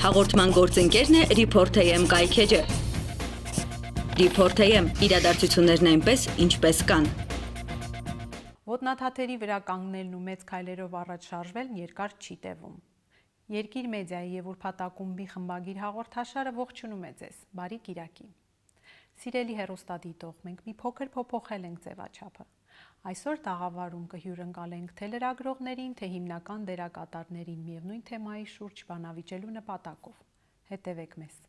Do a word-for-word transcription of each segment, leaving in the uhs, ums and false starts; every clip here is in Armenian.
Հաղորդման գործընկերն է Report A M կայքեջը։ Report A M իրադարձություններն այնպես, ինչպես կան։ Ոտնաթաթերի վրա կանգնելն ու մեծ քայլերով առաջ շարժվելն երկար չի տևում։ Երկիր մեդիայի եւ ուրբաթակումբի խմբագիր հաղորդաշարը ողջունում է ձեզ։ Բարի կիրակի։ Սիրելի հեռուստադիտող, մենք մի փոքր փոփոխել ենք ձևաչափը։ Այսօր տաղավարում կհյուրընկալենք թե լրագրողներին, թե հիմնական դերակատարներին միևնույն թեմայի շուրջ բանավիճելու նպատակով։ Հետևեք մեզ։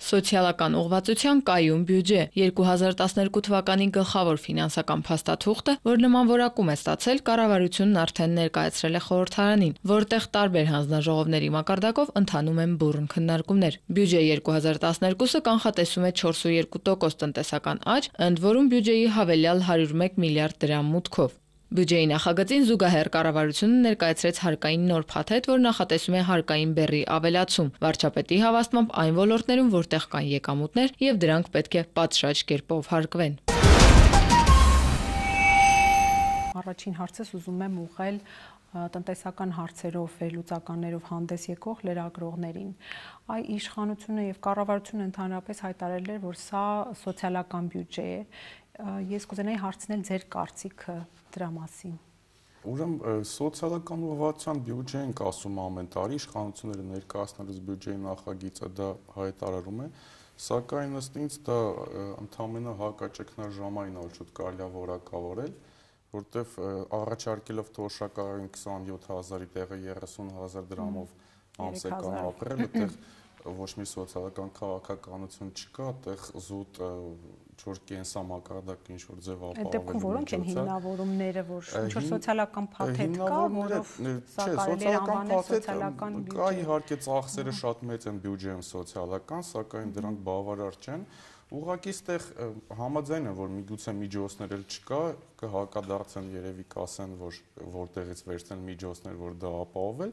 Սոցիալական ուղղվածության կայուն բյուջե երկու հազար տասներկու թվականի գլխավոր ֆինանսական փաստաթուղթը, որ նման որակում է ստացել, կառավարությունն արդեն ներկայացրել է խորհրդարանին, որտեղ տարբեր հանձնաժողովների մակարդակով ընթանում են բուռն քննարկումներ։ Բյուջե երկու հազար տասներկուսը կանխատեսում է չորսունյոթ տոկոս տնտեսական աճ, ընդ որում բյուջեի հավելյալ հարյուր մեկ միլիարդ դրամ մուտքով։ Բյուջեի նախագծին զուգահեռ կառավարությունը ներկայացրեց հարկային նոր փաթեթ, որ նախատեսում է հարկային բեռի ավելացում, վարչապետի հավաստմամբ այն ոլորտներում, որտեղ կան եկամուտներ եւ դրանք պետք է պատշաճ կերպով հարկվեն։ Առաջին հարցս ուզում եմ ուղղել տնտեսական հարցերով, վերլուծականներով հանդես եկող լրագրողներին։ Այ իշխանությունը եւ կառավարությունը ընդհանրապես հայտարարել էր, որ սա սոցիալական բյուջե է։ Ես կուզենայի հարցնել ձեր կարծիքը դրա մասին։ Ուրեմն սոցիալական ուղղվածության բյուջե ենք ասում ամեն տարի, իշխանությունները ներկայացնելուց բյուջեի նախագիծը դա հայտարարում է, սակայն ըստ ինձ դա ընդամենը հակաճգնաժամային օլ շուտ կարելի է որակավորել, որտեվ առաջարկելով թոշակառույն քսանյոթ հազարի տեղը երեսուն հազար դրամով ամսական ապրել, այդտեղ ոչ մի սոցիալական քաղաքականություն չկա, այդտեղ զուտ ինչ-որ կենսամակարդակ ինչ-որ ձև ապահովել։ Այդտեղ որոնք են հիմնավորումները, որ ինչ-որ սոցիալական փաթեթ կա, որով սա կարելի է անվանել սոցիալական բյուջե։ Կա իհարկե ծախսերը շատ մեծ են բյուջեում սոցիալական, սակայն դրանք բավարար չեն։ Ուղղակի այստեղ համաձայն եմ, որ միգուցե միջոցներ էլ չկա, կհակադարձեն երևի կասեն, որ որտեղից վերցնել միջոցներ, որ դա ապահովել,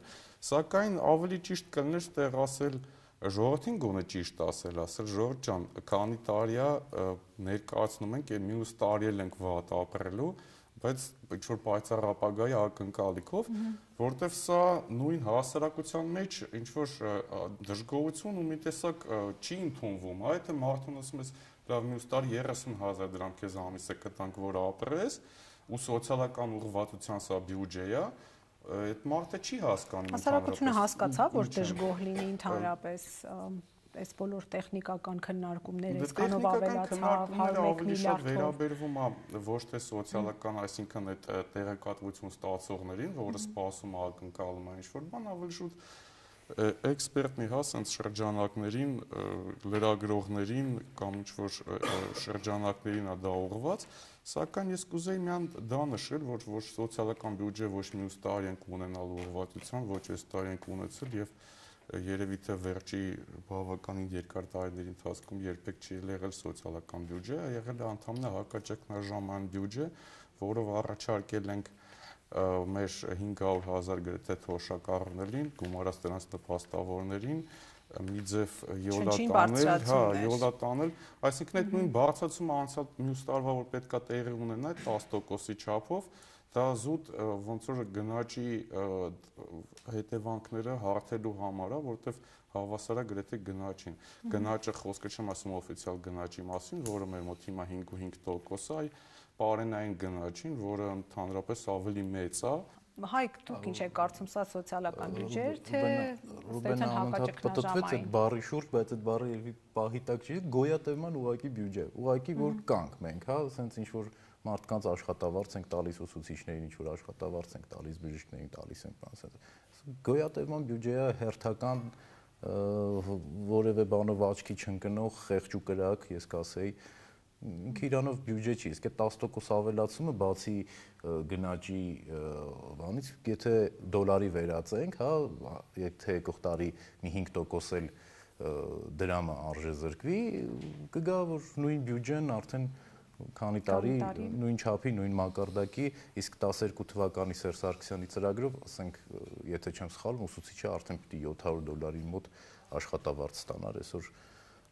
սակայն ավելի ճիշտ կլիներ այստեղ ասել ժողովրդին գոնե ճիշտ ասել, ասել ժողովուրդ ջան, քանի տարի է ներկայացնում ենք, եւ մյուս տարի էլ ենք վատ ապրելու, բայց ինչ-որ պայծառ ապագայի ակնկալիքով, որտեվ սա նույն հասարակության մեջ ինչ-որ դժգոհություն ու մի տեսակ չի ընդունվում, այդ է մարդուն ասում ես, լավ մյուս տարի երեսուն հազար դրամ քեզ ամիսը կտանք, որ ապրես, ու սոցիալական ուղղվածության սա բյուջե է, այդ մարդը չի հասկանում։ Հասարակությունը հասկացավ, որ դժգոհ լինի ընդհանրապես այս բոլոր տեխնիկական քննարկումները, այսքանով ավելացավ հարյուր մեկ միլիարդով։ Վերաբերվում է ոչ թե սոցիալական, այսինքն այդ տեղեկատվություն ստացողներին, որը սպասում է ակնկալում է ինչ-որ բան, ավելի շուտ էքսպերտ մի հա sense շրջանակներին, լրագրողներին կամ ինչ-որ շրջանակներին է դա ուղղված, սակայն ես կուզեի միան դա նշել, որ ոչ սոցիալական բյուջե ոչ մյուս տարի ենք ունենալ ուղղվածության, ոչ այս տարի ենք ունեցել եւ երևի թե վերջի բավականին երկար տարիների ընթացքում երբեք չի եղել սոցիալական բյուջե, եղել է ընդհանրապես հակաճգնաժամային բյուջե, որով առաջարկել ենք մեր հինգ հարյուր հազար գրեթե թոշակառուներին, գումարած դրանց նպաստավորներին, մի ձև յոլատանել, հա, յոլատանել, այսինքն այդ նույն բարձրացումը անցյալ մյուս տարվա որ պետքա տեղի ունենա տասը տոկոսի չափով, դա զուտ ոնց որ գնաճի հետևանքները հարթելու համար է, որտեվ հավասար է գրեթե գնաճին։ Գնաճը խոսքը չեմ ասում օֆիցիալ գնաճի մասին, որը մեր մոտ հիմա հինգ ու հինգ տոկոս է, այլ պարենային գնաճին, որը ընդհանրապես ավելի մեծ է։ Հայկ, դուք ինչ եք կարծում, սա սոցիալական բյուջե է, թե Ռուբենը հակաճգնաժամային այդ բառի շուրջ, բայց այդ բառը երևի պահի տակ չի, գոյատևման ուղղակի բյուջե։ Ուղղակի որ կանք մենք, հա, ասենց ինչ որ մարդկանց աշխատավարձ ենք տալիս ուսուցիչներին, ինչ որ աշխատավարձ ենք տալիս բժիշկներին, տալիս ենք բան, ասենց։ Գոյատևման բյուջեը հերթական որևէ բանով աչքի չընկնող խեղճ ու կրակ, ես կասեի, ինքը իրանով բյուջե չի, իսկ այդ տասը տոկոս ավելացումը բացի գնաճի բանից, եթե դոլարի վերածենք, հա, եթե եկող տարի մի հինգ տոկոս էլ դրամը արժե զրկվի, կգա որ նույն բյուջեն արդեն քանի տարի նույն չափի, նույն մակարդակի, իսկ տասներկու թվականի Սերժ Սարգսյանի ծրագրով, ասենք, եթե չեմ սխալվում, ուսուցիչը արդեն պիտի յոթ հարյուր դոլարի մոտ աշխատավարձ ստանար, այսօր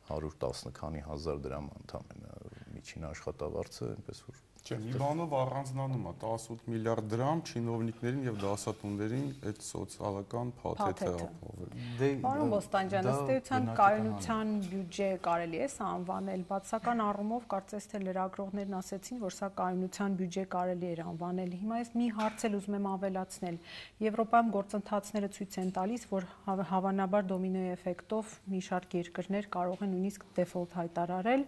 հարյուր տասը քանի հազար դրամ ընդամենը միջին աշխատավարձը, այնպես որ Չէ, մի բանով առանձնանում է տասնութ միլիարդ դրամ չինովնիկներին եւ դասատուներին այդ սոցիալական փաթեթը ապահովել։ Պարոն Բոստանջյան, ըստ էության կայունության բյուջե կարելի է սա անվանել, բացական առումով կարծես թե լրագրողներն ասեցին, որ սա կայունության բյուջե կարելի էր անվանել։ Հիմա ես մի հարց էլ ուզում եմ ավելացնել։ Եվրոպայում գործընթացները ցույց են տալիս, որ հավանաբար դոմինոյի էֆեկտով մի շարք երկրներ կարող են նույնիսկ դեֆոլտ հայտարարել,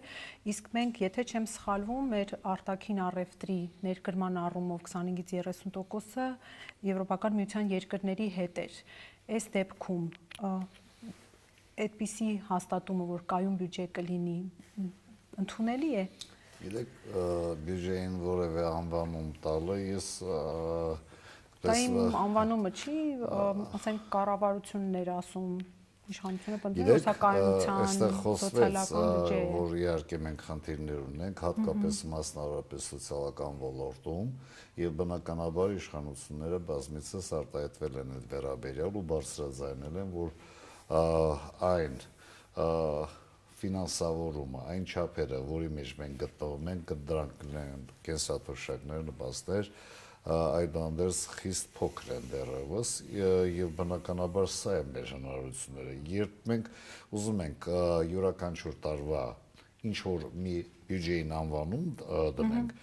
իսկ մենք, եթե չեմ սխալվում, մեր արտաքին առևտրի ներկրման առումով քսանհինգից երեսուն տոկոսը Եվրոպական միության երկրների հետ էր։ Այս դեպքում այդպիսի հաստատումը, որ կայուն բյուջե կլինի, ընդունելի է։ Գիտեք, բյուջեին որևէ անվանում տալը ես Դա իմ անվանումը չի, ասենք կառավարությունն էր ասում, իշխանությունը պնդում է կայունության սոցիալական բյուջե, որ իհարկե մենք խնդիրներ ունենք, հատկապես մասնավորապես սոցիալական ոլորտում, եւ բնականաբար իշխանությունները բազմիցս արտահայտվել են այդ վերաբերյալ ու բարձրաձայնել են, որ այն ֆինանսավորումը, այն չափերը, որի մեջ մենք գտնվում ենք, դրանք կենսաթոշակներ, նպաստներ, այդուհանդերձ խիստ փոքր են դեռևս եւ բնականաբար սա է մեր հնարավորությունները։ Երբ մենք ուզում ենք յուրաքանչյուր տարվա ինչ որ մի բյուջեին անվանում դնենք,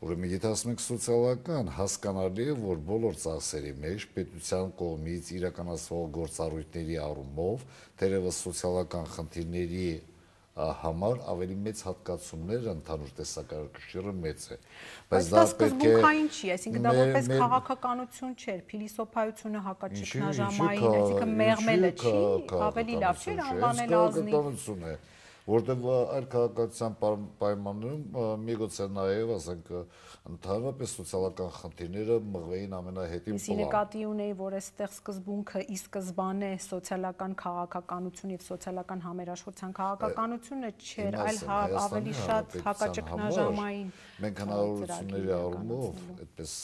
ուրեմն եթե ասում ենք սոցիալական, հասկանալի է, որ բոլոր ծախսերի մեջ պետության կողմից իրականացվող գործառույթների առումով թերևս սոցիալական խնդիրների համար ավելի մեծ հատկացումներ ընդհանուր տեսակարգուշիռը մեծ է, բայց դա սկզբունքային չի, այսինքն դա որպես քաղաքականություն չէր, փիլիսոփայությունը հակաճգնաժամային, այսինքն մեղմելը չի, ավելի լավ չէր անվանել ազնիվ, որտեղ այլ քաղաքացիական պայմաններում միգուցե նաև, ասենք, ընդհանրապես սոցիալական խնդիրները մղվեին ամենահետին պլան։ Իսկ նկատի ունեի, որ այստեղ սկզբունքը ի սկզբանե սոցիալական քաղաքականություն եւ սոցիալական համերաշխության քաղաքականությունը չէր, այլ ավելի շատ հակաճգնաժամային։ Մենք հնարավորությունների առումով այդպես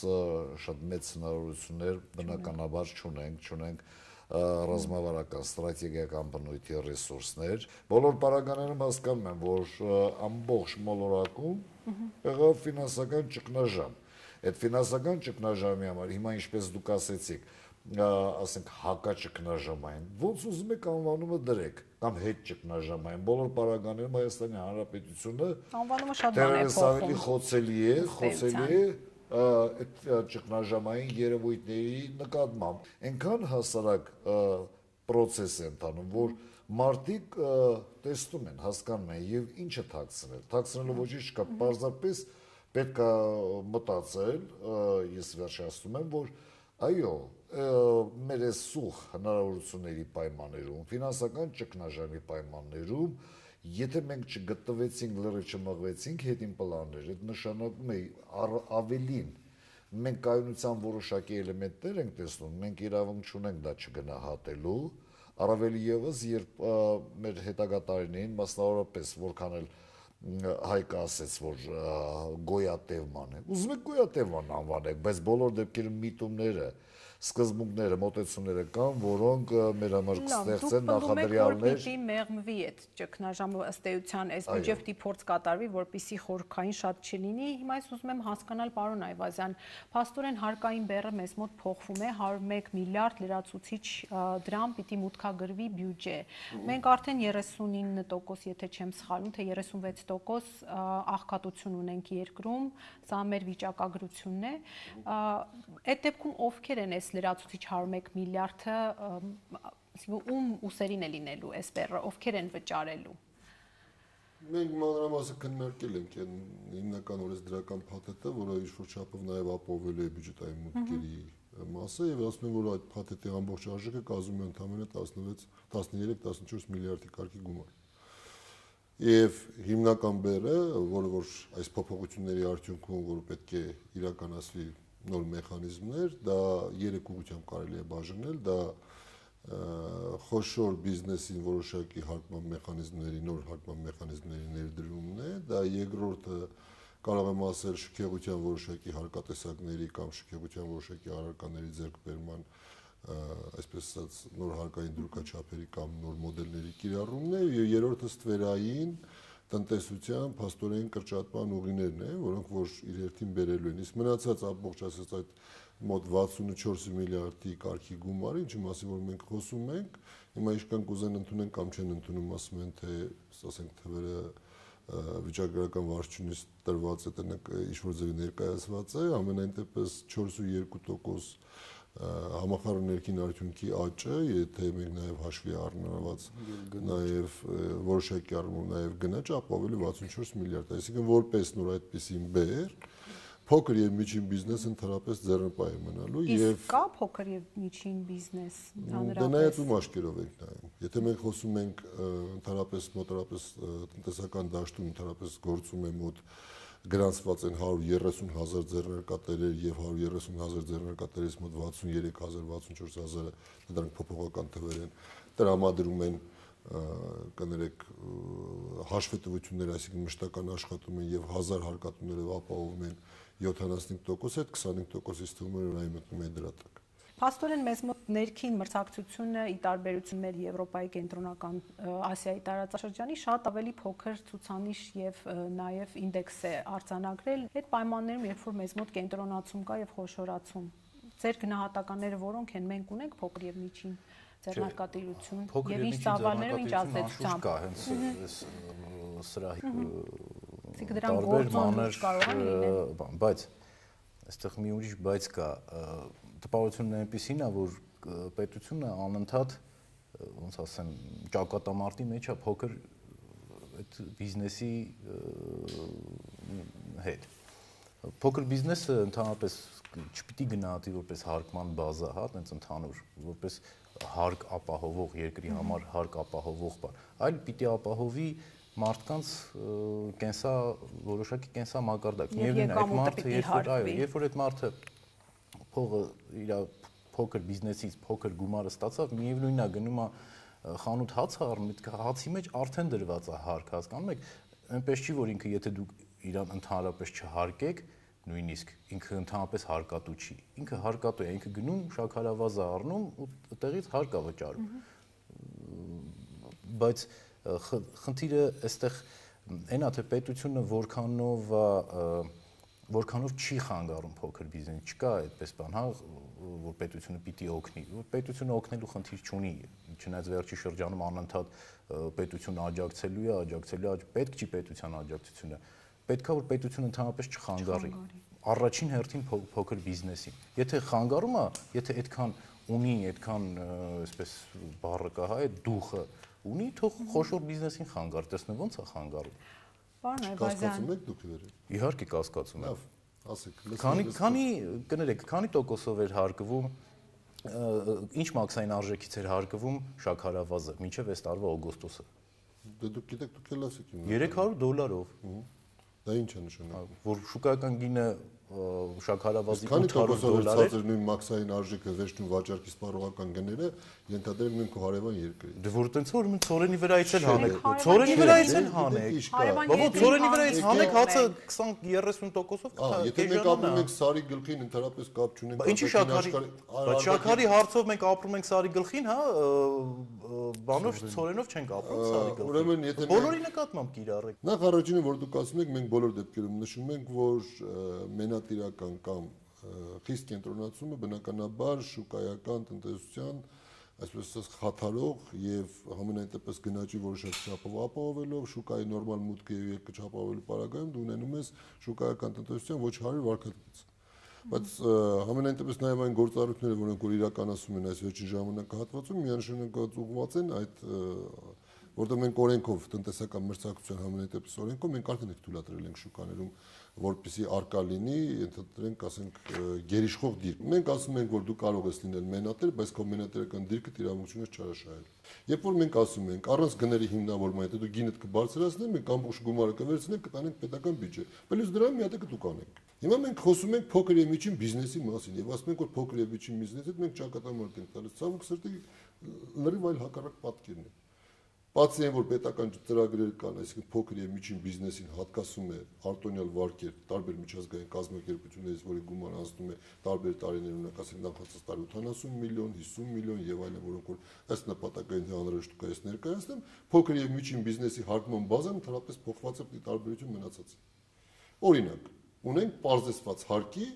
շատ մեծ հնարավորություններ բնականաբար չունենք, չունենք ռազմավարական ստրատեգիական բնույթի ռեսուրսներ, բոլոր պարագաներում հասկանում են, որ ամբողջ մոլորակում եղավ ֆինանսական ճգնաժամ։ Այդ ֆինանսական ճգնաժամի համար հիմա ինչպես դուք ասեցիք, ասենք հակաճգնաժամային, ոնց ուզում եք անվանումը դրեք, կամ հետ ճգնաժամային, բոլոր պարագաներում Հայաստանի Հանրապետությունը անվանումը շատ բան է փոխում, խոցելի է, խոցելի է այդ ճգնաժամային երևույթների նկատմամբ այնքան հասարակ պրոցես է ընթանում, որ մարդիկ տեսնում են, հասկանում են եւ ինչը թաքցնել, թաքցնելու ոչինչ չկա, պարզապես պետք է մտածել, ես վերջացնում եմ, որ այո, մեր այս սուղ հնարավորությունների պայմաններում, ֆինանսական ճգնաժամի պայմաններում, եթե մենք չգտնվեցինք, լրիվ չմղվեցինք հետին պլաններ, այդ նշանակում է ավելին մենք կայունության որոշակի էլեմենտներ ենք տեսնում, մենք իրավունք չունենք դա չգնահատելու, առավել ևս, երբ մեր հետագա տարիներին, մասնավորապես, որքան էլ Հայկը ասեց, որ գոյատևման է, ուզում եք գոյատևման անվանեք, բայց բոլոր դեպքերում միտումները, սկզբունքները, մոտեցումները կան, որոնք մեր համար կստեղծեն նախադրյալներ։ Պիտի մեղմվի այդ ճգնաժամը ըստ էության, այս բյուջեի պիտի փորձ կատարվի, որպեսզի խորքային շատ չլինի։ Հիմա ես ուզում եմ հասկանալ, պարոն Այվազյան, փաստորեն հարկային բեռը մեզ մոտ փոխվում է, հարյուր ու մեկ միլիարդ լրացուցիչ դրամ պիտի մուտքագրվի բյուջե։ Մենք արդեն երեսունինը տոկոս, եթե չեմ սխալվում, թե երեսունվեց տոկոս աղքատություն ունենք երկրում, սա մեր վիճակագրությունն է։ Այդ դեպքում ովքեր են այս լրացուցիչ հարյուր ու մեկ միլիարդը, ում ուսերին է լինելու այս բեռը, ովքեր են վճարելու։ Մենք մանրամասը քննարկել ենք այն հիմնականորեն դրական փաթեթը, որը ինչ-որ չափով նաև ապահովելու է բյուջետային մուտքերի մասը, եւ ասում են, որ այդ փաթեթի ամբողջ արժեքը կազմում է ընդամենը տասներեք տասնչորս միլիարդի կարգի գումար։ Եվ հիմնական բեռը, որը որ այս փոփոխությունների արդյունքում, որ պետք է իրականացվի նոր մեխանիզմներ, դա երեք ուղղությամբ կարելի է բաժանել, դա խոշոր բիզնեսին որոշակի հարկման մեխանիզմների, նոր հարկման մեխանիզմների ներդրումն է, դա երկրորդը կարող եմ ասել շքեղության որոշակի հարկատեսակների կամ շքեղության որոշակի առարկաների ձեռքբերման, այսպես ասած, նոր հարկային դրույքաչափերի կամ նոր մոդելների կիրառումն է, եւ երրորդը ստվերային տնտեսության փաստորեն կրճատման ուղիներն են, որոնք որ իր հերթին բերելու են։ Իսկ մնացած ամբողջ ասած այդ մոտ վաթսունչորս միլիարդի կարգի գումարը, ինչի մասին որ մենք խոսում ենք, հիմա իշքան կուզեն ընդունեն կամ չեն ընդունում, ասում են թե, ասենք թվերը վիճակագրական վարչությունից տրված է, ինչ որ ձևի ներկայացված է, ամենայն դեպս չորս ու երկու տոկոս համախառն ներքին արդյունքի աճը, եթե մենք նաև հաշվի առնված նաև որոշակի առումով նաև գնաճ ապահովելու վաթսունչորս միլիարդ, այսինքն որպես նոր այդպիսի բեր, փոքր եւ միջին բիզնեսը ընդհանրապես ձեռնպահ է մնալու եւ կա փոքր եւ միջին բիզնես հանրապես։ Դա նայած ում աշկերով ենք նայում։ Եթե մենք խոսում ենք ընդհանրապես մոտավորապես տնտեսական դաշտում ընդհանրապես գործում է մոտ գրանցված են հարյուր երեսուն հազար ձեռնարկատերեր եւ հարյուր երեսուն հազար ձեռնարկատերից մոտ վաթսուներեք հազար վաթսունչորս հազարը դրանք փոփոխական թվեր են, տրամադրում են կներեք հաշվետվություններ, այսինքն մշտական աշխատում են եւ հազար հարկատուներով ապահովում են յոթանասունհինգ տոկոս, այդ քսանհինգ տոկոսից թվում է այն մտնում է դրա տակ։ Փաստորեն մեզ մոտ ներքին մրցակցությունը ի տարբերություն մեր Եվրոպայի կենտրոնական Ասիայի տարածաշրջանի շատ ավելի փոքր ցուցանիշ եւ նաեւ ինդեքս է արձանագրել այդ պայմաններում, երբ որ մեզ մոտ կենտրոնացում կա եւ խոշորացում։ Ձեր գնահատականները որոնք են, մենք ունենք փոքր եւ միջին ձեռնարկատիրություն եւ ինչ ծավալներով ինչ ազդեցությամբ կա հենց սրա տարբեր մանր, բայց այստեղ մի ուրիշ բայց կա, տպավորությունն այնպեսին է, որ պետությունը անընդհատ, ոնց ասեմ, ճակատամարտի մեջ է փոքր այդ բիզնեսի հետ։ Փոքր բիզնեսը ընդհանրապես չպիտի գնահատի որպես հարկման բազա, հա, տենց ընդհանուր, որպես հարկ ապահովող երկրի համար հարկ ապահովող բան, այլ պիտի ապահովի մարդկանց կենսա որոշակի կենսա մակարդակ։ Միևնույն է, այդ մարդը երբ որ այո, երբ որ այդ մարդը փողը իր փոքր բիզնեսից փոքր գումարը ստացավ, միևնույնն է գնում է խանութ հաց առնում, այդ հացի մեջ արդեն դրված է հարկ, հասկանում եք, այնպես չի որ ինքը եթե դուք իրան ընդհանրապես չհարկեք, նույնիսկ ինքը ընդհանրապես հարկատու չի։ Ինքը հարկատու է, ինքը գնում շաքարավազը առնում ու այդտեղից հարկ է վճարում։ Բայց խնդիրը այստեղ այն է, թե պետությունը որքանով որքանով չի խանգարում փոքր բիզնես, չկա այդպես բան, հա, որ պետությունը պիտի օգնի, որ պետությունը օգնելու խնդիր չունի, չնայած վերջի շրջանում անընդհատ պետությունը աջակցելու է, աջակցելու է, պետք չի պետության աջակցությունը, պետք է որ պետությունը ընդհանրապես չխանգարի, առաջին հերթին փոքր բիզնեսին, եթե խանգարում է, եթե այդքան ունի, այդքան այսպես բառը կա, հա, այդ դուխը ունի, թող խոշոր բիզնեսին խանգարի, տեսնեմ ոնց է խանգարում։ Պարոն Այվազյան, կասկածում եք դուք իրեն։ Իհարկե կասկածում եմ։ Ասեք, քանի քանի կներեք, քանի տոկոսով էր հարկվում, ինչ մաքսային արժեքից էր հարկվում շաքարավազը մինչև այս տարվա օգոստոսը։ Դե դուք գիտեք, դուք էլ ասեք իմ։ երեք հարյուր դոլարով։ Դա ինչ է նշանակում։ Որ շուկայական գինը շաքարավազի ութ հարյուր դոլար է, նույն մաքսային արժեքը վերջնում վաճառքի սպառողական գները ենթադրել նույն քո հարևան երկրի։ Դե որ տենց որ մենք ծորենի վրայից էլ հանեք, ծորենի վրայից էլ հանեք։ Բաբո ծորենի վրայից հանեք հացը քսան երեսուն տոկոսով կա։ Եթե մենք ապրում ենք սարի գլխին, ընդհանրապես կապ չունենք։ Ինչի շաքարի, բայց շաքարի հարցով մենք ապրում ենք սարի գլխին, հա, բանով ծորենով չենք ապրում սարի գլխին։ Ուրեմն եթե բոլորի նկատմամբ կիրառեք։ Նախ առաջինը որ դուք ասում եք, մենք բոլոր դեպքերում նշում ենք, որ մենատիրական կամ խիստ կենտրոնացումը բնականաբար շուկայական տնտեսության այսպես ասած խաթարող եւ համենայն դեպս գնաճի որոշակի չափով ապահովելով շուկայի նորմալ մուտքը եւ եկը չապահովելու պարագայում դու ունենում ես շուկայական տնտեսության ոչ հարյուր վարկատից։ Բայց համենայն դեպս նաեւ այն գործառույթները, որոնք որ իրականացում են այս վերջին ժամանակահատվածում, միանշանակ ուղղված են այդ որտեղ մենք օրենքով տնտեսական մրցակցության համենայն դեպս օրենքով մենք արդեն ենք թույլատրել ենք շուկաներում որպեսզի արկա լինի, ընդհանրենք ասենք գերիշխող դիրք։ Մենք ասում ենք, որ դու կարող ես լինել մենատեր, բայց քո մենատերական դիրքը իրավունքություն ես չարաշահել։ Երբ որ մենք ասում ենք, առանց գների հիմնավորման, եթե դու գինդ կբարձրացնես, մենք ամբողջ գումարը կվերցնենք, կտանենք պետական բյուջե։ Պլյուս դրան մի հատ կդուք անենք։ Հիմա մենք խոսում ենք փոքր եւ միջին բիզնեսի մասին եւ ասում ենք, որ փոքր եւ միջին բիզնեսից մենք ճակատամարտ ենք տալիս։ Ցավոք սրտի լրիվ այլ հակառակ պատկերն է։ Բացի այն, որ պետական ծրագրեր կան, այսինքն փոքր եւ միջին բիզնեսին հատկացում է արտոնյալ վարկեր տարբեր միջազգային կազմակերպություններից, որի գումարը անցնում է տարբեր տարիներ, օրինակ ասենք նախացած տարի ութանասուն միլիոն, հիսուն միլիոն եւ այլն, որոնք որ ըստ նպատակային հանրաշուկա ես ներկայացնեմ, փոքր եւ միջին բիզնեսի հարկման բազան ընդհանրապես փոխված է տարբերություն մնացած։ Օրինակ, ունենք բարձրացված հարկի,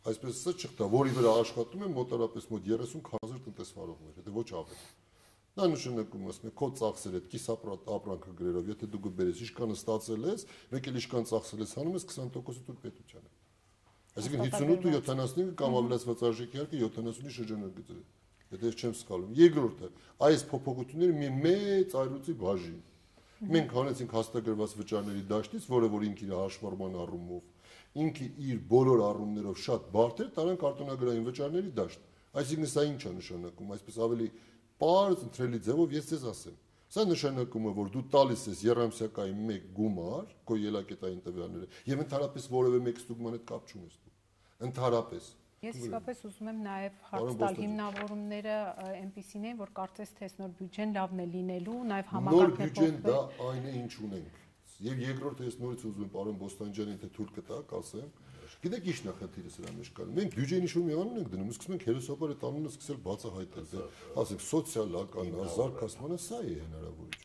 այսպես ասած չխտա, որի վրա աշխատում են մոտավորապես մոտ երեսուն հազար տնտեսվարողներ, դա ոչ ավել։ Նա նշանակում ասում է քո ծախսերը կիսապրատ ապրանքը գրերով, եթե դու գբերես իշքանը ստացել ես, մեկ էլ իշքան ծախսել ես հանում ես քսան տոկոսը դու պետությանը։ Այսինքն հիսունութ ու յոթանասունինը կամ ավելացված արժեքի հարկը յոթանասունի շրջանագծեր է։ Եթե ես չեմ սխալվում։ Երկրորդը, այս փոփոխությունները մի մեծ այրուցի բաժին։ Մենք հանեցինք հաստագրված վճարների դաշտից, որը որ ինքը իր հաշվառման առումով, ինքը իր բոլոր առումներով շատ բարդ էր, տարանք արտոնագրային վճարների դաշտ։ Այսինքն սա ինչ է նշանակում, այսպես ավելի պարզ ընտրելի ձևով ես ձեզ ասեմ։ Սա նշանակում է, որ դու տալիս ես երամսյակային մեկ գումար, քո ելակետային տվյալները, եւ ընդհանրապես որևէ մեկ ստուգման հետ կապ չունես դու։ Ընդհանրապես։ Ես իսկապես ուզում եմ նաև հարց տալ հիմնավորումները այնպիսին են, որ կարծես թե նոր բյուջեն լավն է լինելու, նաև համակարգն է փոխվել։ Նոր բյուջեն դա այն է, ինչ ունենք։ Եվ երկրորդը ես նորից ուզում եմ պարոն Բոստանջյանին թե թույլ կտակ, ասեմ, գիտեք ի՞նչ նախնդիրը սրա մեջ կա։ Մենք բյուջեին ինչ-որ մի անուն ենք դնում, սկսում ենք հերոսաբար այդ անունը սկսել բացահայտել, ասենք սոցիալական, զարգացմանը, սա է հնարավորությունը։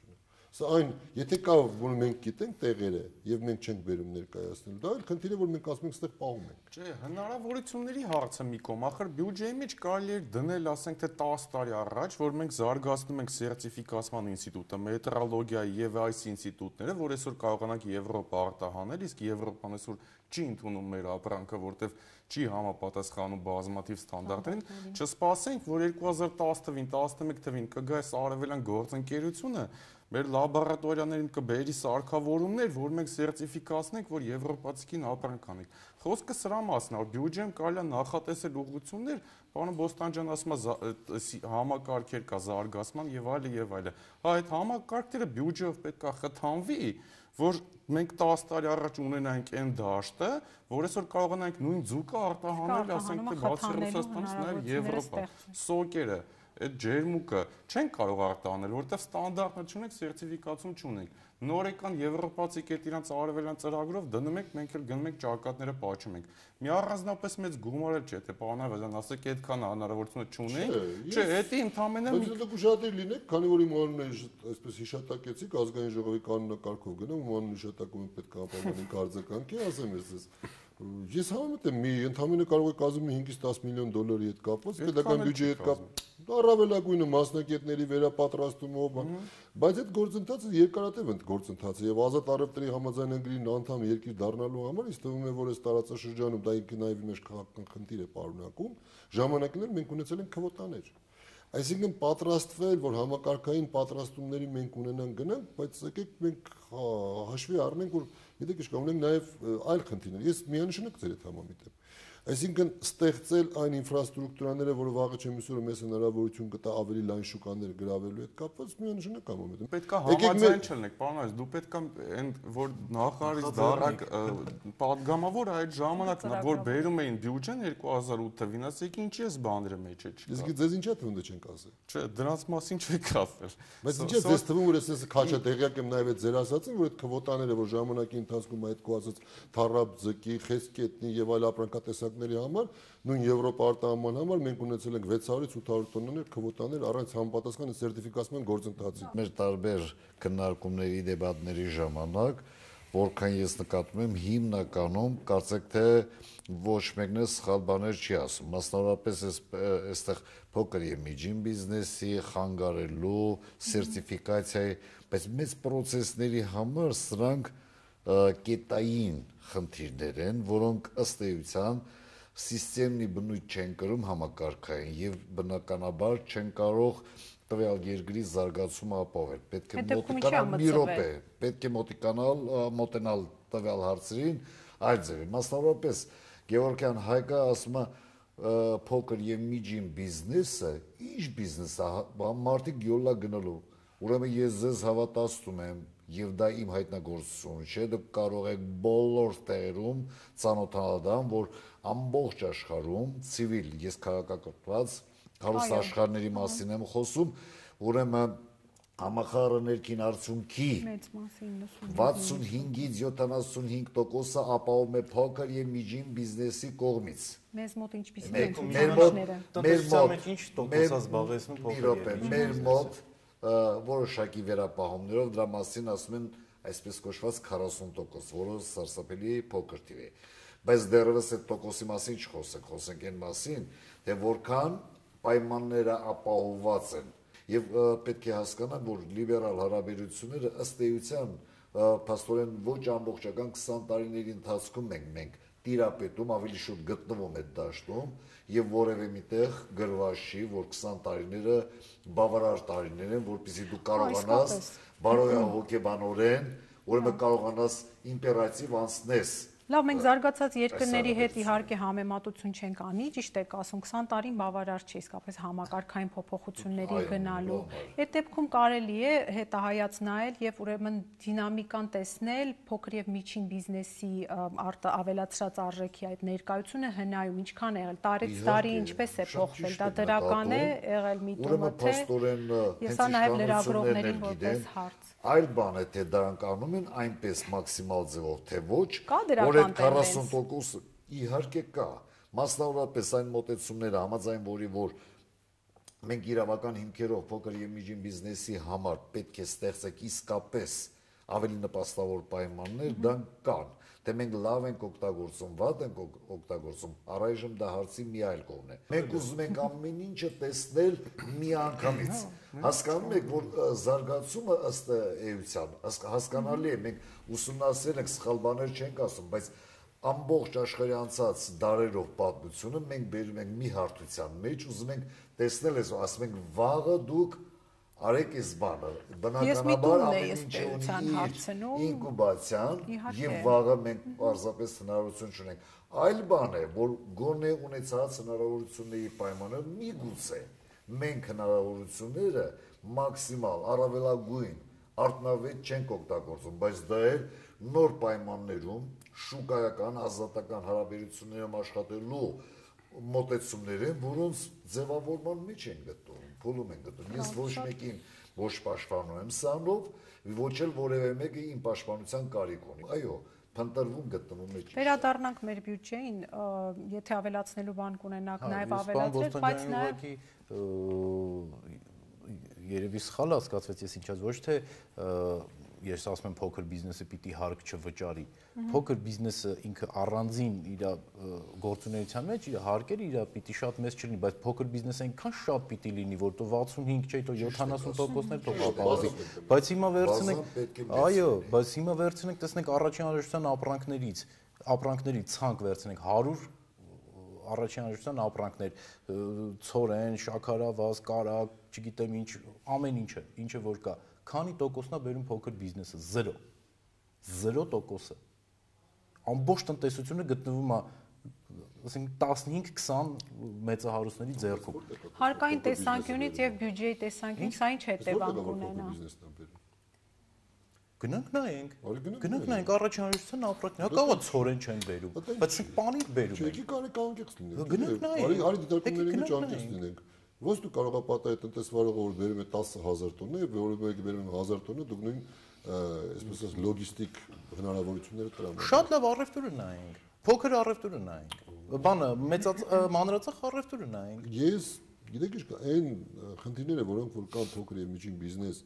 Սա այն, եթե կա, որ մենք գիտենք տեղերը եւ մենք չենք բերում ներկայացնել, դա էլ խնդիրը, որ մենք ասում ենք, այստեղ պահում ենք։ Չէ, հնարավորությունների հարցը մի կողմ, ախր բյուջեի մեջ կարելի է դնել, ասենք թե տասը տարի առաջ, որ մենք զարգացնում ենք սերտիֆիկացման ինստիտուտը, մետրոլոգիայի եւ այս ինստիտուտները, որ այսօր կարողանանք Եվրոպա արտահանել, իսկ Եվրոպան այսօր չի ընդունում մեր ապրանքը, որտեվ չի համապատասխանում բազմաթիվ ստանդարտներին, չսպասենք, որ երկու հազար տասը թվին, տասնմեկ թվին կգա այս արևելյան գործընկերությունը մեր լաբորատորիաներին կբերի սարքավորումներ, որ մենք սերտիֆիկացնենք, որ եվրոպացիքին ապրանք անենք։ Խոսքը սրա մասն է, որ բյուջեն կարելի է նախատեսել ուղղություններ, պարոն Բոստանջյան ասում է համակարգեր կա զարգացման եւ այլը եւ այլը։ Հա այդ համակարգերը բյուջեով պետք է խթանվի, որ մենք տասը տարի առաջ ունենանք այն դաշտը, որ այսօր կարողանանք նույն ձուկը արտահանել, ասենք թե բացի Ռուսաստանից նաեւ Եվրոպա, սոկերը այդ ջերմուկը չեն կարող արտահանել, որովհետև ստանդարտներ չունենք, սերտիֆիկացում չունենք։ Նորեկան եվրոպացի կետ իրանց արևելյան ծրագրով դնում ենք, մենք էլ գնում ենք ճակատները պաչում ենք։ Մի առանձնապես մեծ գումար էլ չէ, թե պարոն Ավազյան, ասեք այդքան հնարավորությունը չունենք։ Չէ, դա ընդհանրապես Բայց դուք ուշադիր լինեք, քանի որ իմ անունը այսպես հիշատակեցիք, ազգային ժողովի կանոնակարգով գնամ, իմ անունը հիշատակում պետք է ապահովենք արձագանքի, ասեմ ես Ես համեմատեմ մի ընդհանրապես կարող է կազմի հինգից տասը միլիոն դոլարի հետ կապված, պետական բյուջեի հետ կապ, առավելագույնը մասնակիցների վերապատրաստումով, բայց այդ գործընթացը երկարատև է գործընթացը եւ ազատ առևտրի համաձայնագրի անդամ երկիր դառնալու համար ինձ թվում է, որ այս տարածաշրջանում դա ինքը նաեւ մեր քաղաքական խնդիր է պարունակում, ժամանակներ մենք ունեցել ենք քվոտաներ։ Այսինքն պատրաստվել, որ համակարգային պատրաստումների մենք ունենանք գնանք, բայց եկեք մենք հաշվի առնենք, որ գիտեք ինչ կա, ունենք նաև այլ խնդիրներ։ Ես միանշանակ ձեր հետ համամիտ եմ։ Այսինքն ստեղծել այն ինֆրաստրուկտուրաները, որը վաղը չեմ հուսում մեզ հնարավորություն կտա ավելի լայն շուկաներ գրավելու հետ կապված, միանշանակ համամիտ եմ։ Պետք է համաձայն չլինեք, պարոն Այս, դու պետք է այն որ նախարարից դառնաք պատգամավոր այդ ժամանակ, որ բերում էին բյուջեն երկու հազար ութ թվին, ասեք ինչի էս բաները մեջ է չկա։ Իսկ ձեզ ինչա թվում դե չենք ասել։ Չէ, դրանց մասին չեք ասել։ Բայց ինչա ձեզ թվում որ ես քաչա տեղյակ եմ նաև այդ ձեր ասածին, որ այդ քվոտաները, որ ժամանակի ընթացքում այդ քո ասած թառապ ձկի, խեսկետնի եւ այլ ապրանքատեսակների համար նույն Եվրոպա արտահանման համար մենք ունեցել ենք վեց հարյուրից ութ հարյուր տոննաներ քվոտաներ առանց համապատասխան սերտիֆիկացման գործընթացի։ Մեր տարբեր քննարկումների, դեբատների ժամանակ, որքան ես նկատում եմ, հիմնականում կարծեք թե ոչ մեկն է սխալ բաներ չի ասում։ Մասնավորապես այստեղ փոքր եւ միջին բիզնեսի խանգարելու սերտիֆիկացիայի, բայց մեծ պրոցեսների համար սրանք կետային խնդիրներ են, որոնք ըստ էության սիստեմի բնույթ չեն կրում համակարգային եւ բնականաբար չեն կարող տվյալ երկրի զարգացումը ապահովել։ Պետք է մոտիկանալ մի րոպե, պետք է մոտիկանալ, մոտենալ տվյալ հարցերին այլ ձևի։ Մասնավորապես Գևորգյան Հայկը ասում է փոքր եւ միջին բիզնեսը, ի՞նչ բիզնես է, մարդիկ յոլա գնալու։ Ուրեմն ես ձեզ հավատացնում եմ եւ դա իմ հայտնագործությունը չէ, դուք կարող եք բոլոր տեղերում ծանոթանալ դրան, որ ամբողջ աշխարհում ցիվիլ, ես քաղաքակրթված հարուստ աշխարհների մասին եմ խոսում, ուրեմն համախառն ներքին արդյունքի վաթսունհինգից յոթանասունհինգ տոկոսը ապահովում է փոքր եւ միջին բիզնեսի կողմից։ Մեզ մոտ ինչպիսի են ցուցանիշները։ Տնտեսության մեջ ինչ տոկոս է զբաղեցնում փոքր։ Մեր մոտ որոշակի վերապահումներով դրա մասին ասում են այսպես կոչված քառասուն տոկոս, որը սարսափելի փոքր թիվ է։ Բայց դեռևս այդ տոկոսի մասին չխոսենք, խոսենք այն մասին, թե որքան պայմանները ապահովված են։ Եվ պետք է հասկանալ, որ լիբերալ հարաբերությունները ըստ էության փաստորեն ոչ ամբողջական քսան տարիների ընթացքում ենք մենք տիրապետում, ավելի շուտ գտնվում այդ դաշտում եւ որևէ միտեղ գրված չի, որ քսան տարիները բավարար տարիներ են, որպեսզի դու կարողանաս բարոյահոգեբանորեն, ուրեմն կարողանաս իմպերատիվ անցնես։ Լավ, մենք զարգացած երկրների հետ իհարկե համեմատություն չենք անի, ճիշտ եք ասում, քսան տարին բավարար չի իսկապես համակարգային փոփոխությունների գնալու։ Այդ դեպքում կարելի է հետահայաց նայել եւ ուրեմն դինամիկան տեսնել, փոքր եւ միջին բիզնեսի ավելացրած արժեքի այդ ներկայությունը հնայում ինչքան է եղել, տարեց տարի ինչպես է փոխվել, դա դրական է եղել միտումը թե ես նաեւ լրագրողներին որպես հարց։ Այլ բան է, թե դրանք անում են այնպես մաքսիմալ ձևով, թե ոչ, որ այդ քառասուն տոկոս իհարկե կա, մասնավորապես այն մոտեցումները համաձայն որի որ մենք իրավական հիմքերով փոքր եւ միջին բիզնեսի համար պետք է ստեղծենք իսկապես ավելի նպաստավոր պայմաններ, դրանք կան, թե մենք լավ ենք օգտագործում, վատ ենք օգտագործում, առայժմ դա հարցի մի այլ կողմն է։ Մենք ուզում ենք ամեն ինչը տեսնել միանգամից։ Հասկանում եք, որ զարգացումը ըստ էության հասկանալի է, մենք ուսումնասիրել ենք, սխալ բաներ չենք ասում, բայց ամբողջ աշխարհի անցած դարերով պատմությունը մենք բերում ենք մի հարթության մեջ, ուզում ենք տեսնել այս, ասում ենք վաղը դուք արեք այս բանը, բնականաբար ամեն ինչը ունի ինկուբացիան եւ վաղը մենք պարզապես հնարավորություն չունենք։ Այլ բան է, որ գոնե ունեցած հնարավորությունների պայմանով միգուցե մենք հնարավորությունները մաքսիմալ, առավելագույն, արդյունավետ չենք օգտագործում, բայց դա էլ նոր պայմաններում շուկայական, ազատական հարաբերություններում աշխատելու մոտեցումներ են, որոնց ձևավորման մեջ են գտնվում, փուլում են գտնվում։ Ես ոչ մեկին ոչ պաշտպանում եմ սրանով, ոչ էլ որևէ մեկը իմ պաշտպանության կարիք ունի։ Այո, փնտրվում գտնվում է։ Վերադառնանք մեր բյուջեին, եթե ավելացնելու բան կունենաք, նաև ավելացրեք, բայց նաև երևի սխալ հասկացվեց, ես ինչած ոչ թե ես ասում եմ փոքր բիզնեսը պիտի հարկ չվճարի։ Փոքր բիզնեսը ինքը առանձին իր գործունեության մեջ իր հարկերը իր պիտի շատ մեծ չլինի, բայց փոքր բիզնեսը այնքան շատ պիտի լինի, որ то վաթսունհինգ չէ, то յոթանասուն տոկոսներ թող ապահովի։ Բայց հիմա վերցնենք, այո, բայց հիմա վերցնենք, տեսնենք առաջին անհրաժեշտության ապրանքներից, ապրանքների ցանկ վերցնենք հարյուր առաջին անհրաժեշտության ապրանքներ, ցորեն, շաքարավազ, կարակ, չգիտեմ ինչ, ամեն ինչը, ինչը որ կա, քանի տոկոսն է բերում փոքր բիզնեսը, զերո։ Զերո տոկոսը։ Ամբողջ տնտեսությունը գտնվում է, ասենք տասնհինգ քսան մեծահարուստների ձեռքում։ Հարկային տեսանկյունից եւ բյուջեի տեսանկյունից սա ինչ հետևանք ունենա։ Գնանք նայենք, գնանք նայենք առաջին անհրաժեշտության ապրանքներ, հա կարող է ցորեն չեն բերում, բայց մենք պանիր բերում ենք։ Չէ, կարելի կանգնեց լինենք։ Գնանք նայենք։ Արի արի դիտարկումների մեջ անկես լինենք։ Ոչ դու կարող ես պատահի տնտեսվարողը որ բերում է տասը հազար տոննա եւ որը մեկը բերում է հազար տոննա, դուք նույն այսպես ասած լոգիստիկ հնարավորությունները տրամադրում։ Շատ լավ առևտուրը նայենք։ Փոքր առևտուրը նայենք։ Բանը մեծած մանրածախ առևտուրը նայենք։ Ես գիտեք ինչ կա, այն խնդիրները, որոնք որ կան փոքր եւ միջին բիզնես,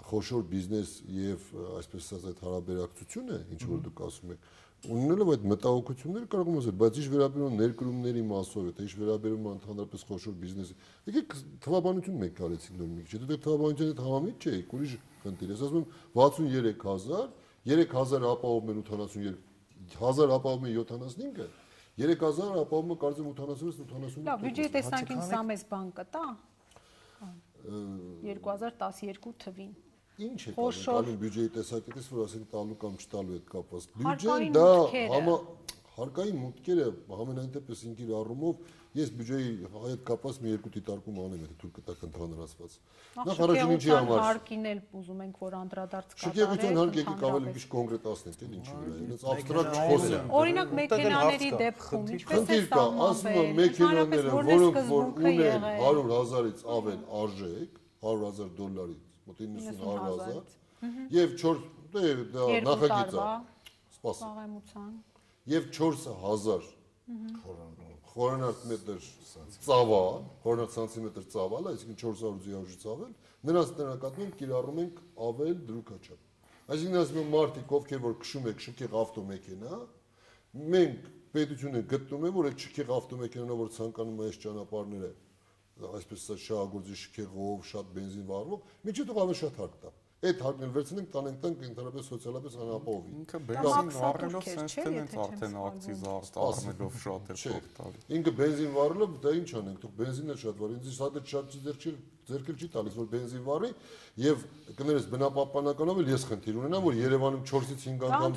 խոշոր բիզնես եւ այսպես ասած այդ հարաբերակցությունը, ինչ որ դուք ասում եք, ունենալով այդ մտահոգությունները կարող եմ ասել, բայց ինչ վերաբերում ներկրումների մասով է, թե ինչ վերաբերում է ընդհանրապես խոշոր բիզնեսի։ Եկեք թվաբանություն մենք կարեցինք նոր մի քիչ։ Դե թվաբանությունը հետ համամիտ չէ, ուրիշ խնդիր է։ Ես ասում եմ վաթսուներեք հազար, երեք հազար ապահովում են ութանասուներեք, հազար ապահովում են յոթանասունհինգը, երեք հազար ապահովում են կարծեմ ութանասունից ութանասունհինգ։ Լավ, բյուջեի տեսանկյունից սա մեծ բան կտա։ երկու հազար տասներկու թվին։ Ինչ է տալու բյուջեի տեսակետից, որ ասենք տալու կամ չտալու հետ կապված։ Բյուջեն դա համա հարկային մուտքերը ամենայն դեպս ինքիր առումով ես բյուջեի հետ կապված մի երկու դիտարկում անեմ, եթե թույլ կտակ ընդհանրացված։ Նախ առաջին ինչի համար հարկին էլ ուզում ենք որ անդրադարձ կատարենք։ Շքեղության հարկ եկեք ավելի քիչ կոնկրետացնենք, էլ ինչի վրա։ Այնց աբստրակտ չխոսենք։ Օրինակ մեքենաների դեպքում ինչպես է սա ասում եմ մեքենաները, որոնք որ ունեն հարյուր հազարից ավել արժեք, հարյուր հազար դոլարից մոտ իննսուն հազար, եւ չորս նախագիծ է, սպասի, եւ չորս հազար խորանարդ մետր ծավա, խորանարդ սանտիմետր ծավալ, այսինքն չորս հարյուր ձիավժի ծավել, նրանց տնականություն կիրառում ենք ավել դրուկաչափ։ Այսինքն ասում եմ մարդիկ, ովքեր որ քշում եք շքեղ ավտոմեքենա, մենք պետությունը գտնում է, որ այդ շքեղ ավտոմեքենան, որ ցանկանում է այս ճանապարհները, այսպես շահագործի շքեղով, շատ բենզին վառվող, միջի դու ավելի շատ հարկ տա։ Այդ հարկն վերցնենք, տանենք տանք ընդհանրապես սոցիալապես անապահովի։ Ինքը բենզին վառելով sense թե նենց արդեն ակցիզ առնելով շատ է փոխտալ։ Ինքը բենզին վառելով դա ինչ անենք, դուք բենզինը շատ վառ, ինձ շատ շատ ձեր ձերքել չի տալիս, որ բենզին վառի եւ կներես բնապահպանականով էլ ես խնդիր ունենամ, որ Երևանում չորսից հինգ անգամ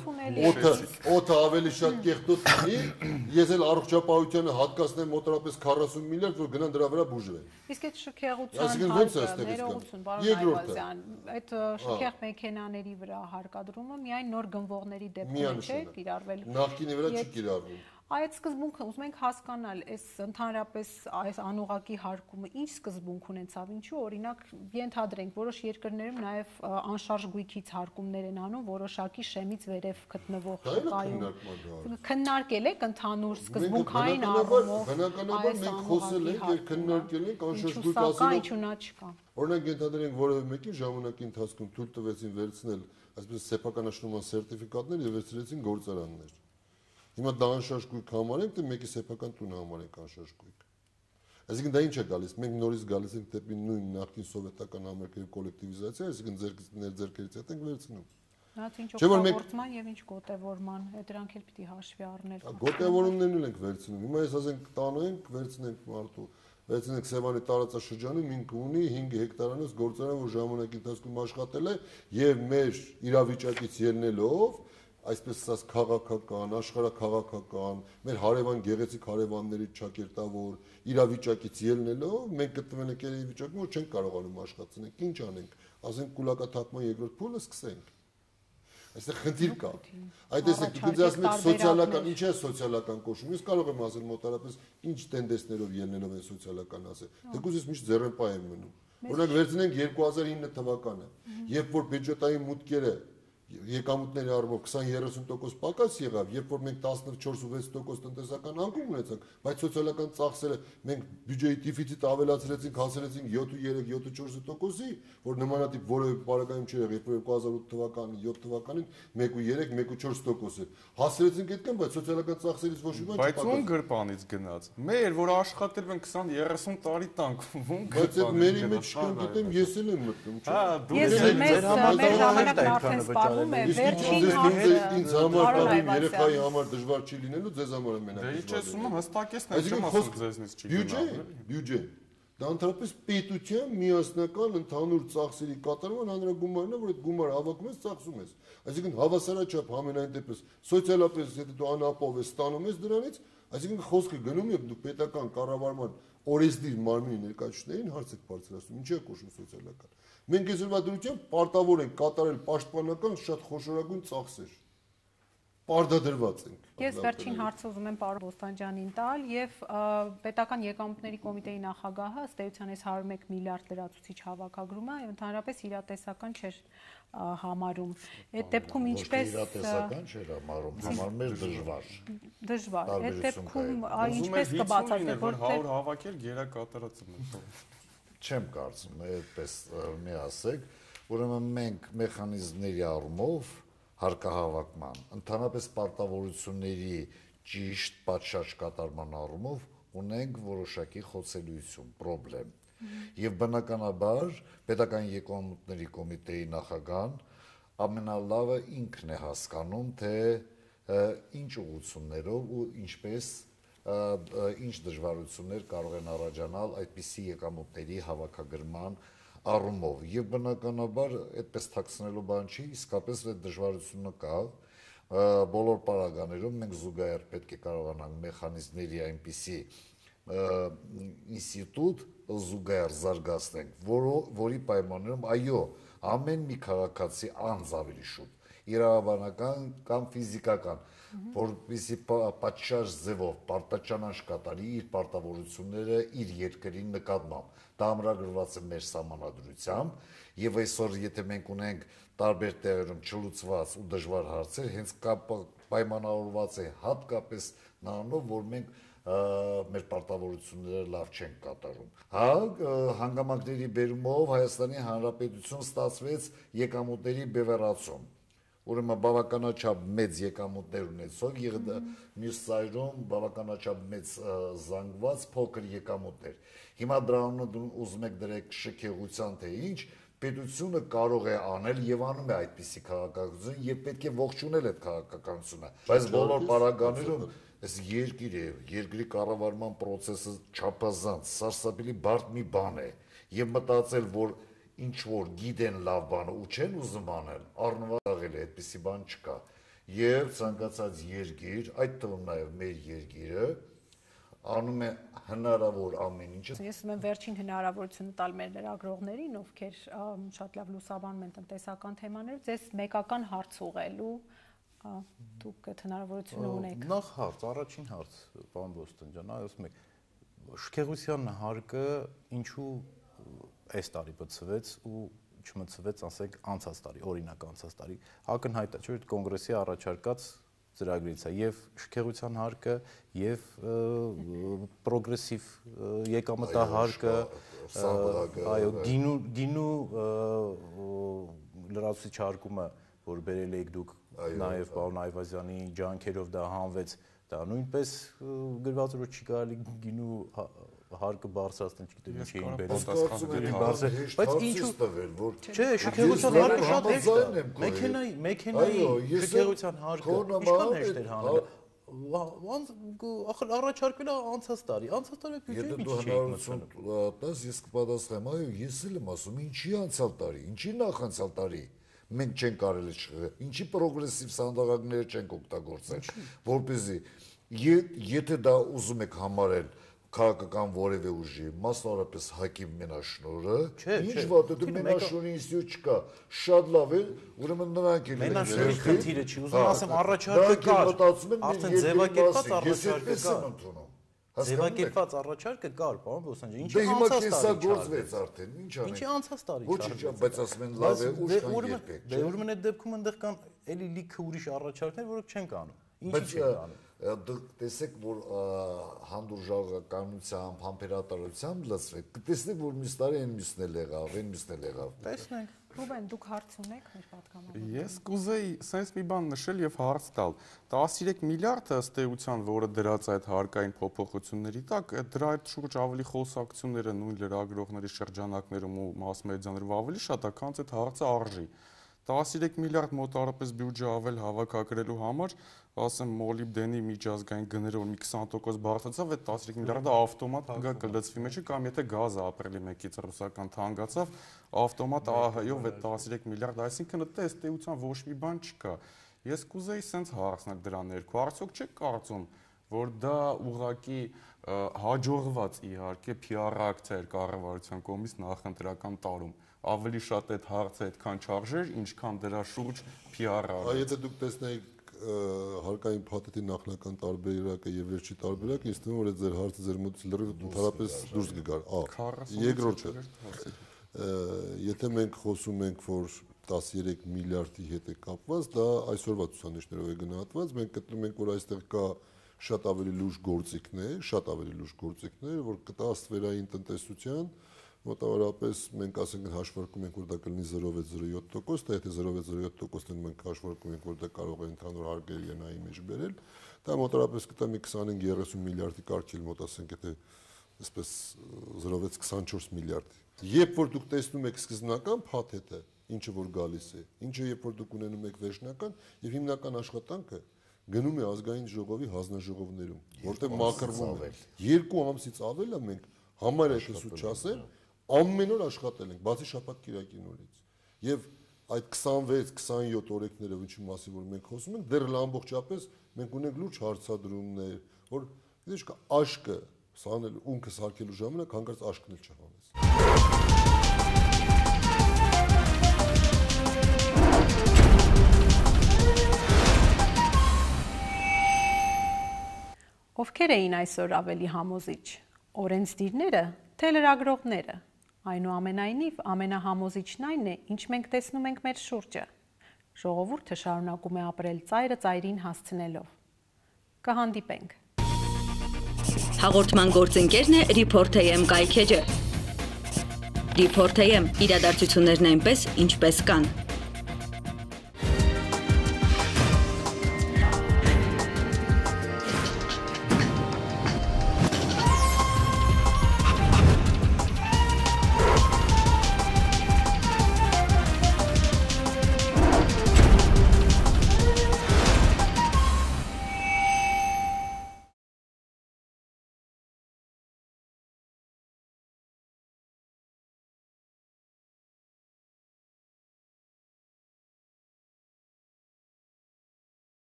օդը օդը ավելի շատ կեղտոտ լինի, ես էլ առողջապահությանը հատկացնեմ մոտավորապես քառասուն միլիարդ, որ գնան դրա վրա բուժվեն։ Իսկ այդ շքեղության հարկը, ներողություն, պարոն Այվազյան, այդ շքեղ մեքենաների վրա հարկադրումը միայն նոր գնվողների դեպքում չէ կիրառվել։ Նախկինի վրա չի կիրառվում։ Այդ սկզբունքը ուզում ենք հասկանալ, այս ընդհանրապես այս անուղակի հարկումը ինչ սկզբունք ունեցավ, ինչու օրինակ ենթադրենք որոշ երկրներում նաև անշարժ գույքից հարկումներ են անում որոշակի շեմից վերև գտնվող շուկայում։ Քննարկել եք ընդհանուր սկզբունքային առումով։ Բնականաբար մենք խոսել ենք եւ քննարկել ենք անշարժ գույք ասելով։ Օրինակ ենթադրենք որևէ մեկին ժամանակի ընթացքում թույլ տվեցին վերցնել այսպես սեփականաշնորհման սերտիֆիկատներ եւ վերցրեցին գործարաններ։ Հիմա դա անշարժ գույք համարենք, թե մեկի սեփական տունը համարենք անշարժ գույք։ Այսինքն դա ինչ է գալիս։ Մենք նորից գալիս ենք դեպի նույն նախկին սովետական Ամերիկայի կոլեկտիվիզացիա, այսինքն ձեր ձերքերից հետ ենք վերցնում։ Նրանց ինչ օգտագործման եւ ինչ գոտեվորման, դրանք էլ պիտի հաշվի առնել։ Գոտեվորումներն էլ ենք վերցնում։ Հիմա ես ասենք տանենք, վերցնենք մարդու, վերցնենք Սևանի տարածաշրջանում ինքը ունի հինգ հեկտարանոց գործարան, որ ժամանակի ընթացքում աշխատել է եւ մեր իրավիճակից ելնելով այսպես ասած քաղաքական, աշխարհաքաղաքական, մեր հարևան գեղեցիկ հարևանների ճակերտավոր իրավիճակից ելնելով մենք գտնվել ենք այն վիճակում, որ չենք կարողանում աշխատել, ինչ անենք, ասենք կուլակաթափման երկրորդ փուլը սկսենք։ Այստեղ խնդիր կա։ Այդ տեսեք, դուք ասում եք սոցիալական, ինչ է սոցիալական կոչում։ Ես կարող եմ ասել մոտարապես ինչ տենդենսներով ելնելով են սոցիալական ասել։ Դուք ես միշտ ձեռնպահ եմ մնում։ Օրինակ վերցնենք երկու հազար ինը թվականը, երբ որ բյուջետային մուտքերը եկամուտների առումով քսան երեսուն տոկոս պակաս եղավ, երբ որ մենք տասնչորս ու վեց տոկոս տնտեսական անկում ունեցանք, բայց սոցիալական ծախսերը մենք բյուջեի դեֆիցիտ ավելացրեցինք, հասցրեցինք յոթ ու երեք, յոթ ու չորս տոկոսի, որ նմանատիպ որևէ պարագայում չէր եղել, երբ որ երկու հազար ութ թվականին, յոթ թվականին մեկ ու երեք, մեկ ու չորս տոկոս էր։ Հասցրեցինք այդքան, բայց սոցիալական ծախսերից ոչ մի բան չպակաս։ Բայց ում գրպանից գնաց։ Մեր, որ աշխատել են քսան երեսուն տարի տանք, ում բայց այդ մերի մեջ չկնդեմ, ես էլ եմ մտնում, չէ՞։ Հա, դու մեր մեր ժամանակն արդեն սպառվում է, վերջին հարցը ինձ համար կամ երեխայի համար դժվար չի լինելու, ձեզ համար մենակ։ Դե ինչ ես ում հստակեցնեմ, չեմ ասում ձեզնից չի գնա։ Բյուջե, դա ընդհանրապես պետության միասնական ընդհանուր ծախսերի կատարման հանրագումարն է, որ այդ գումարը հավաքում ես, ծախսում ես։ Այսինքն հավասարաչափ համենայն դեպս սոցիալապես եթե դու անապահով ես ստանում ես դրանից, այսինքն խոսքը գնում է դու պետական կառավարման օրենսդիր մարմնի ներկայացուցիչներին հարց եք բարձրացնում, ինչի է կոչվում սոցիալական։ Մենք այսօրվա դրությամբ պարտավոր ենք կատարել պաշտպանական շատ խոշորագույն ծախսեր։ Պարտադրված ենք։ Ես վերջին հարցը ուզում եմ պարոն Բոստանջյանին տալ եւ պետական եկամուտների կոմիտեի նախագահը ըստ էության այս հարյուր մեկ միլիարդ լրացուցիչ հավաքագրումը ընդհանրապես իրատեսական չէր համարում։ Այդ դեպքում ինչպես իրատեսական չէր համարում, համարում էր դժվար։ Դժվար։ Այդ դեպքում ինչպես կբացատրեք, որ հարյուր հավաքել գերակատարած է։ Չեմ կարծում, այդպես մի ասեք, ուրեմն մենք մեխանիզմների առումով հարկահավաքման, ընդհանրապես պարտավորությունների ճիշտ պատշաճ կատարման առումով ունենք որոշակի խոցելիություն, պրոբլեմ։ Եվ բնականաբար պետական եկամուտների կոմիտեի նախագահան ամենալավը ինքն է հասկանում, թե ինչ ուղղություններով ու ինչպես ինչ դժվարություններ կարող են առաջանալ այդպիսի եկամուտների հավաքագրման առումով եւ բնականաբար այդպես թաքցնելու բան չի, իսկապես այդ դժվարությունը կա բոլոր պարագաներում մենք զուգահեռ պետք է կարողանանք մեխանիզմների այնպիսի ինստիտուտ զուգահեռ զարգացնենք, որի պայմաններում այո, ամեն մի քաղաքացի անձ ավելի շուտ իրավաբանական կամ ֆիզիկական որպեսզի պատշաճ ձևով պարտաճանաչ կատարի իր պարտավորությունները իր երկրի նկատմամբ։ Դա ամրագրված է մեր սահմանադրությամբ, եւ այսօր եթե մենք ունենք տարբեր տեղերում չլուծված ու դժվար հարցեր, հենց պայմանավորված է հատկապես նրանով, որ մենք մեր պարտավորությունները լավ չենք կատարում։ Հա, հանգամանքների բերումով Հայաստանի Հանրապետություն ստացվեց եկամուտների բևեռացում։ Ուրեմն բավականաչափ մեծ եկամուտներ ունեցող, մյուս ծայրում բավականաչափ մեծ զանգված փոքր եկամուտներ։ Հիմա դրանով ուզում եք դրեք շքեղության թե ինչ, պետությունը կարող է անել եւ անում է այդպիսի քաղաքականություն եւ պետք է ողջունել այդ քաղաքականությունը։ Բայց բոլոր պարագաներում այս երկիր է, երկրի կառավարման process-ը չափազանց սարսափելի բարդ մի բան է եւ մտածել, որ ինչ որ գիտեն լավ բանը ու չեն ուզում անել, առնվազն է, այդպիսի բան չկա։ Եվ ցանկացած երկիր, այդ թվում նաև մեր երկիրը, անում է հնարավոր ամեն ինչը։ Ես ուզում եմ վերջին հնարավորությունը տալ մեր լրագրողներին, ովքեր շատ լավ լուսաբանում են տնտեսական թեմաներով, ձեզ մեկական հարց ուղղելու, դուք այդ հնարավորությունը ունեք։ Նախ հարց, առաջին հարց, պարոն Բոստան ջան, ասում եք, շքեղության հարկը ինչու այս տարի բացվեց ու չմցվեց, ասենք, անցած տարի, օրինակ անցած տարի, ակնհայտ է, չէ՞, կոնգրեսի առաջարկած ծրագրից է եւ շքեղության հարկը եւ պրոգրեսիվ եկամտահարկը, այո, գինու գինու լրացուցիչ հարկումը, որ բերել եք դուք նաեւ պարոն Այվազյանի ջանքերով դա հանվեց, դա նույնպես գրված որ չի կարելի գինու հարկը բարձրացնել, չգիտեմ ինչի էին բերել։ Բայց ինչու՞ չէ, շքեղության հարկը շատ հեշտ է։ Մեքենայի, մեքենայի շքեղության հարկը ինչքան հեշտ էր հանել։ Ախր առաջարկվել է անցած տարի, անցած տարի բյուջեի միջի չէի մտցնում։ Տես ես կպատասխանեմ, այո, ես էլ եմ ասում, ինչի անցյալ տարի, ինչի նախանցյալ տարի մենք չենք կարելի չխղել, ինչի պրոգրեսիվ սանդղակները չենք օգտագործել, որպեսզի եթե դա ուզում եք համարել քաղաքական որևէ ուժի, մասնավորապես ՀԱԿ-ի մենաշնորհը, ինչ վատ է, դու մենաշնորհի ինստիտուտ չկա, շատ լավ է, ուրեմն նրանք են։ Մենաշնորհի խնդիրը չի, ուզում ասեմ, առաջարկը կար, արդեն ձևակերպված առաջարկը կար։ Ձևակերպված առաջարկը կար, պարոն Բոսանջյան, ինչի անցած տարի գործվեց արդեն, ինչ անենք։ Ինչի անցած տարի չարվեց։ Ոչ, բայց ասում են լավ է, ուշ կան երբեք։ Դե ուրեմն այդ դեպքում այնտեղ կան էլի լիքը ուրիշ առաջարկներ, որոնք չեն կանում։ Ինչի չեն կանում։ Դուք տեսեք, որ հանդուրժողականությամբ, համբերատարությամբ լծվեք, կտեսնեք, որ մյուս տարի այն մյուսն էլ եղավ, այն մյուսն էլ եղավ։ Տեսնենք։ Ռուբեն, դուք հարց ունեք մեր պատգամավորին։ Ես կուզեի սենց մի բան նշել եւ հարց տալ։ տասներեք միլիարդը ըստ էության, որը դրած այդ հարկային փոփոխությունների տակ, դրա այդ շուրջ ավելի խոսակցությունները նույն լրագրողների շրջանակներում ու մաս մեդիաներում ավելի շատ է, քան այդ հարցը արժի։ տասներեք միլիարդ մոտարապես բյուջե ավել հավաքագրելու համար, ասեմ մոլիբդենի միջազգային գները որ մի քսան տոկոս բարձրացավ, այդ տասներեք միլիարդը ավտոմատ գա կլծվի մեջը, կամ եթե գազը ապրիլի մեկից ռուսական թանկացավ, ավտոմատ ԱՀ-ով այդ տասներեք միլիարդ, այսինքն դա ըստ էության ոչ մի բան չկա։ Ես կուզեի սենց հարցնել դրա ներքո, արդյոք չեք կարծում, որ դա ուղղակի հաջողված իհարկե P R ակցիա էր կառավարության կողմից նախընտրական տարում, ավելի շատ այդ հարցը այդքան չարժեր, ինչքան դրա շուրջ P R արեց։ Այ եթե դուք տեսնեիք հարկային փաթեթի նախնական տարբերակը եւ վերջի տարբերակը, ինձ թվում է որ այդ ձեր հարցը ձեր մոտից լրիվ ընդհանրապես դուրս կգար։ Ա, երկրորդը։ Եթե մենք խոսում ենք, որ տասներեք միլիարդի հետ է կապված, դա այսօրվա ցուցանիշներով է գնահատված, մենք գտնում ենք, որ այստեղ կա շատ ավելի լուրջ գործիքներ, շատ ավելի լուրջ գործիքներ, որ կտա աստվերային տնտեսության մոտավորապես մենք ասենք հաշվարկում ենք, որ դա կլինի zero point zero seven տոկոս, դա եթե zero point zero seven տոկոսն մենք հաշվարկում ենք, որ դա կարող է ընդհանուր հարկերի ենայի մեջ բերել, դա մոտավորապես կտա մի twenty-five thirty միլիարդի կարգել մոտ ասենք, եթե այսպես zero point twenty-four միլիարդ։ Երբ որ դուք տեսնում եք սկզբնական փաթեթը, ինչը որ գալիս է, ինչը երբ որ դուք ունենում եք վերջնական եւ հիմնական աշխատանքը գնում է ազգային ժողովի հանձնաժողովներում, որտեղ մաքրվում է երկու ամսից ավել է մենք համարյա այսուց չասեմ ամեն օր աշխատել ենք, բացի շաբաթ-կիրակի նորից։ Եվ այդ twenty-six twenty-seven օրենքները, ինչի մասին որ մենք խոսում ենք, դեռ ամբողջապես մենք ունենք լուրջ հարցադրումներ, որ գիտես կա աշկը սանել ունքը սարքելու ժամանակ հանկարծ աշկն էլ չհանես։ Ովքեր էին այսօր ավելի համոզիչ, օրենսդիրները, թե լրագրողները։ Այնուամենայնիվ ամենահամոզիչն այն է, ինչ մենք տեսնում ենք մեր շուրջը։ Ժողովուրդը շարունակում է ապրել ծայրը ծայրին հասցնելով։ Կհանդիպենք։ Հաղորդման գործընկերն է Report A M կայքեջը։ Report A M իրադարձություններն այնպես, ինչպես կան։